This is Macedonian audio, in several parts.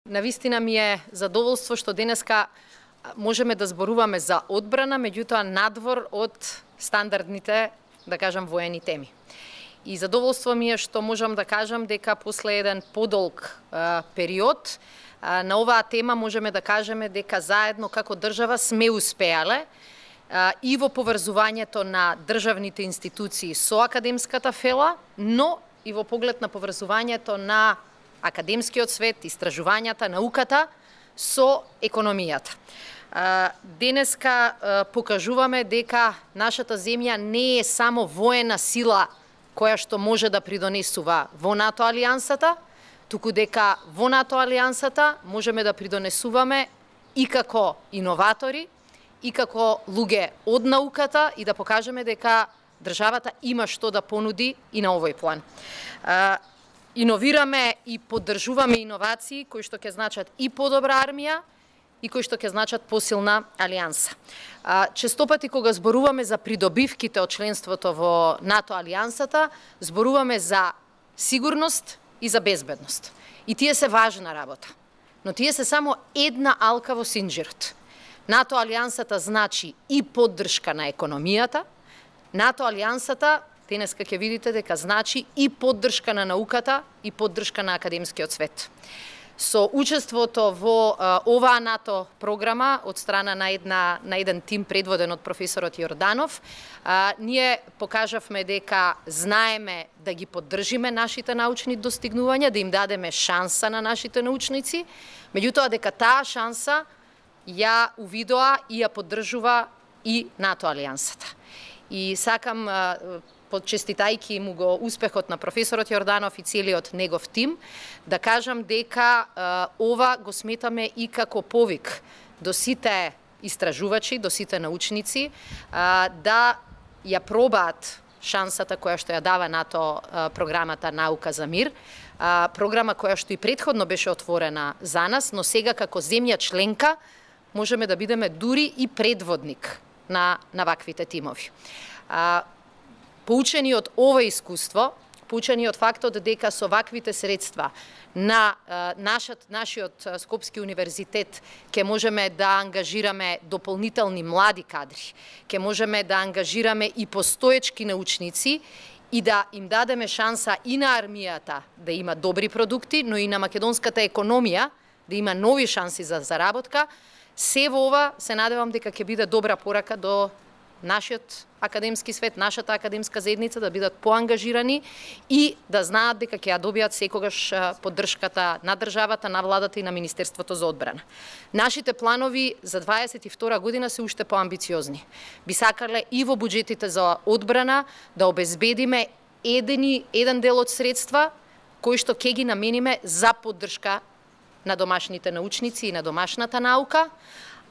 Навистина ми е задоволство што денеска можеме да зборуваме за одбрана, меѓутоа надвор од стандардните, да кажам, воени теми. И задоволство ми е што можам да кажам дека после еден подолг период на оваа тема можеме да кажеме дека заедно како држава сме успеале и во поврзувањето на државните институции со академската фела, но и во поглед на поврзувањето на академскиот свет, истражувањата, науката со економијата. Денеска покажуваме дека нашата земја не е само воена сила која што може да придонесува во НАТО алијансата, туку дека во НАТО алијансата можеме да придонесуваме и како иноватори, и како луѓе од науката и да покажеме дека државата има што да понуди и на овој план. Иновираме и поддржуваме иновации кои што ќе значат и подобра армија и кои што ќе значат посилна алијанса. Честопати кога зборуваме за придобивките од членството во НАТО алијансата, зборуваме за сигурност и за безбедност. И тие се важна работа, но тие се само една алка во синџирот. НАТО алијансата значи и поддршка на економијата, НАТО алијансата денеска ќе видите дека значи и поддршка на науката и поддршка на академскиот свет. Со учеството во оваа НАТО програма од страна на еден тим предводен од професорот Јорданов, ние покажавме дека знаеме да ги поддржиме нашите научни достигнувања, да им дадеме шанса на нашите научници, меѓутоа дека таа шанса ја увидоа и ја поддржува и НАТО алијансата. И сакам, подчеститајќи му го успехот на професорот Јорданов и целиот негов тим, да кажам дека ова го сметаме и како повик до сите истражувачи, до сите научници, да ја пробаат шансата која што ја дава НАТО програмата Наука за мир, програма која што и претходно беше отворена за нас, но сега како земја членка можеме да бидеме дури и предводник на ваквите тимови. Поучени од ова искуство, поучени од фактот дека со ваквите средства на нашиот Скопски универзитет ќе можеме да ангажираме дополнителни млади кадри, ќе можеме да ангажираме и постоечки научници и да им дадеме шанса и на армијата да има добри продукти, но и на македонската економија да има нови шанси за заработка. Се во ова се надевам дека ќе биде добра порака до нашиот академски свет, нашата академска заедница да бидат поангажирани и да знаат дека ќе ја добијат секогаш поддршката на државата, на владата и на Министерството за одбрана. Нашите планови за 22 година се уште поамбициозни. Би сакале и во буџетите за одбрана да обезбедиме еден дел од средства кои што ќе ги намениме за поддршка на домашните научници и на домашната наука,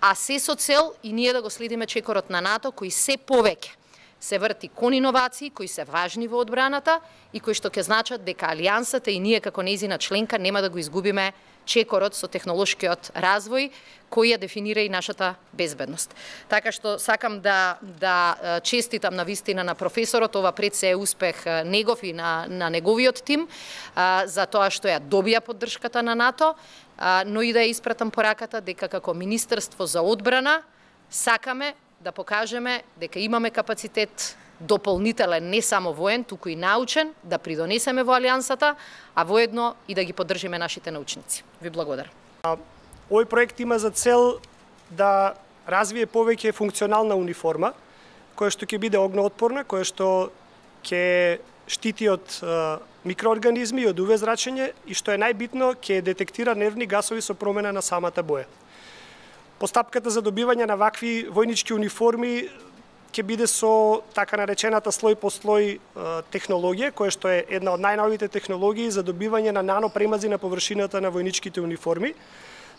а се со цел и ние да го следиме чекорот на НАТО, кој се повеќе се врти кон иновации, кои се важни во одбраната и кои што ќе значат дека алијансата и ние како нејзина членка нема да го изгубиме чекорот со технолошкиот развој кој ја дефинира и нашата безбедност. Така што сакам да честитам на вистина на професорот, ова пред се е успех негов и на неговиот тим за тоа што ја добија поддршката на НАТО, но и да ја испратам пораката дека како Министерство за одбрана сакаме да покажеме дека имаме капацитет дополнителен, не само воен, туку и научен, да придонесеме во алијансата, а воедно и да ги поддржиме нашите научници. Ви благодарам. Овој проект има за цел да развие повеќе функционална униформа, која што ќе биде огнеотпорна, која што ќе штити од микроорганизми и од УВ зрачење и што е најбитно, ќе детектира нервни гасови со промена на самата боја. Постапката за добивање на вакви војнички униформи ќе биде со така наречената слој по слој технологија, која што е една од најновите технологии за добивање на нанопремази на површината на војничките униформи,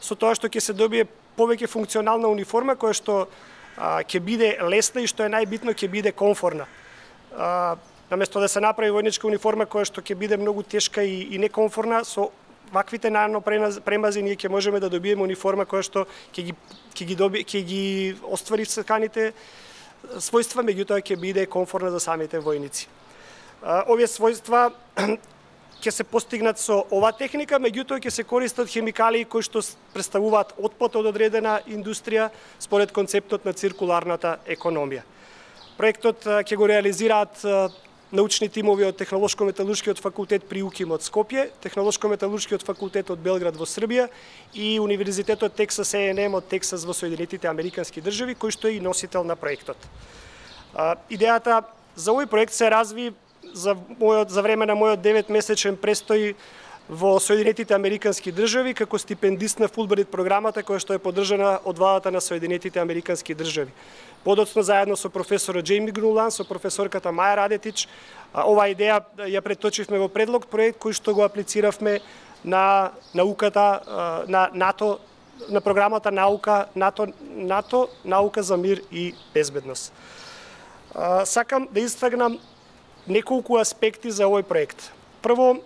со тоа што ќе се добие повеќе функционална униформа која што ќе биде лесна и што е најбитно ќе биде комфорна. Наместо да се направи војничка униформа која што ќе биде многу тешка и некомфорна, со ваквите нанопремази ние ќе можеме да добиеме униформа која што ќе ги оствари саканите својства, меѓутоа ќе биде комфорна за самите војници. Овие својства ќе се постигнат со ова техника, меѓутоа ќе се користат хемикалии кои што представуваат отпад од одредена индустрија според концептот на циркуларната економија. Проектот ќе го реализираат научни тимови од Технолошко-металуршкиот факултет при УКИМ од Скопје, Технолошко-металуршкиот факултет од Белград во Србија и Универзитетот Тексас A&M од Тексас во Соединетите Американски држави, кој што е и носител на проектот. Идејата за овој проект се разви за време на мојот 9-месечен престој во Соединетите Американски држави како стипендист на Фулбрайт програмата која што е поддржана од владата на Соединетите Американски држави. Подоцна заедно со професорот Джейми Грулан, со професорката Маја Радетич, оваа идеја ја преточивме во предлог проект кој што го аплициравме на науката на НАТО, на програмата НАТО наука за мир и безбедност. Сакам да истакнам неколку аспекти за овој проект. Прво,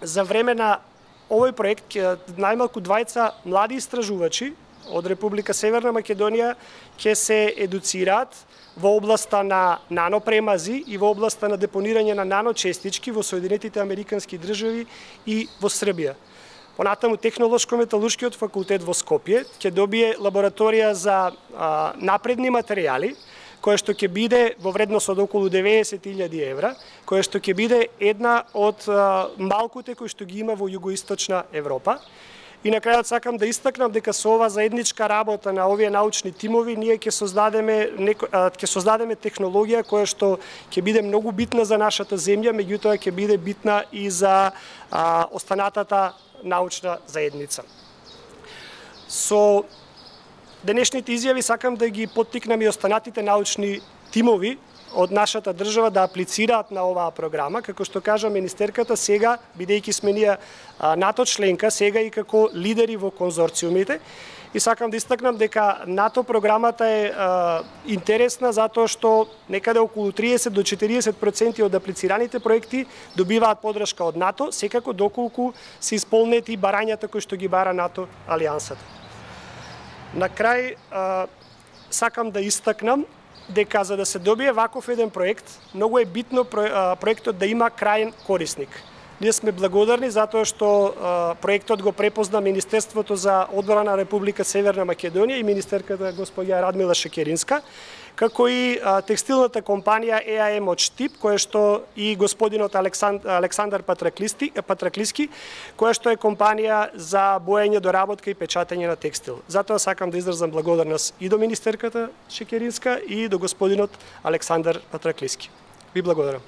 за време на овој проект најмалку двајца млади истражувачи од Република Северна Македонија ќе се едуцираат во областа на нанопремази и во областа на депонирање на наночестички во Соединетите Американски држави и во Србија. Понатаму Технолошко-металуршкиот факултет во Скопје ќе добие лабораторија за напредни материјали, која што ќе биде во вредност од околу 90.000 евра, која што ќе биде една од малкуте кои што ги има во југоисточна Европа. И на крајот сакам да истакнам дека со ова заедничка работа на овие научни тимови ние ќе создадеме технологија која што ќе биде многу битна за нашата земја, меѓутоа ќе биде битна и за останатата научна заедница. Со денешните изјави сакам да ги поттикнам и останатите научни тимови од нашата држава да аплицираат на оваа програма, како што кажа министерката сега, бидејќи сме ние НАТО членка, сега и како лидери во конзорциумите. И сакам да истакнам дека НАТО програмата е интересна затоа што некаде околу 30 до 40% од аплицираните проекти добиваат поддршка од НАТО, секако доколку се исполнети барањата кои што ги бара НАТО алијансата. На крај, сакам да истакнам дека за да се добие ваков еден проект, многу е битно проектот да има крајен корисник. Ние сме благодарни затоа што проектот го препозна Министерството за одбрана на Република Северна Македонија и министерката господја Радмила Шекеринска, како и текстилната компанија ЕАМ од Штип, која што и господинот Александар Патраклиски, која што е компанија за боење, доработка и печатење на текстил. Затоа сакам да изразам благодарност и до министерката Шекеринска и до господинот Александар Патраклиски. Ви благодарам.